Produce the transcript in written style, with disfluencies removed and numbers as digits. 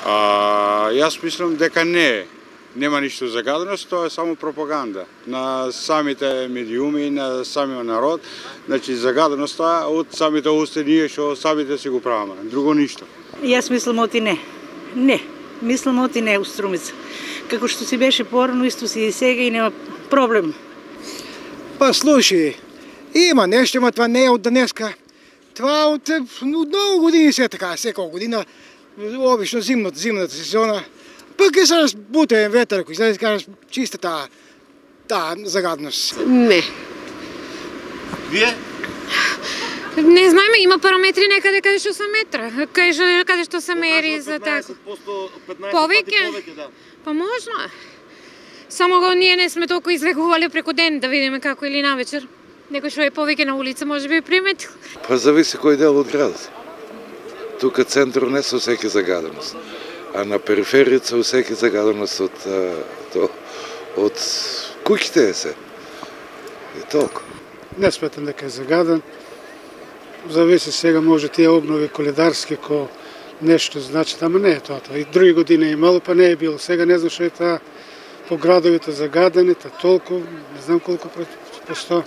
Јас мислам дека нема ништо загаденост, тоа е само пропаганда на самите медиуми, на самиот народ. Значи загаденоста од самите усте ние што самите си го правиме, друго ништо. Јас мислам оти не. Не, мислам оти не у Струмица. Како што си беше порано, исто си и сега и нема проблем. Па слушај, има нешто, ама това не е од денеска. Това од многу години се така, секоја година, обично зимната сезона. Пак е сега бутен ветер, кој се кажеш чиста таа загадност. Не. Вие? Не знаеме, има параметри некаде каде што се метра, каде што се мери за така. 15% повеќе, да. Па можно. Само ние не сме толку излегувале преку ден да видиме како или навечер. Некој што е повеќе на улица може би приметил. Па зависи кој дел од градот. Тука центар не се осеќа загаденост, а на периферијата се осеќа загаденост од куќите се. И толку. Не сметам дека е загаден. Зависи сега може тие обнови коледарски ко нешто значи, ама не е тоа. И други години имало, па не е било. Сега не знам што е таа по градовите загадените, толку, не знам колку постои.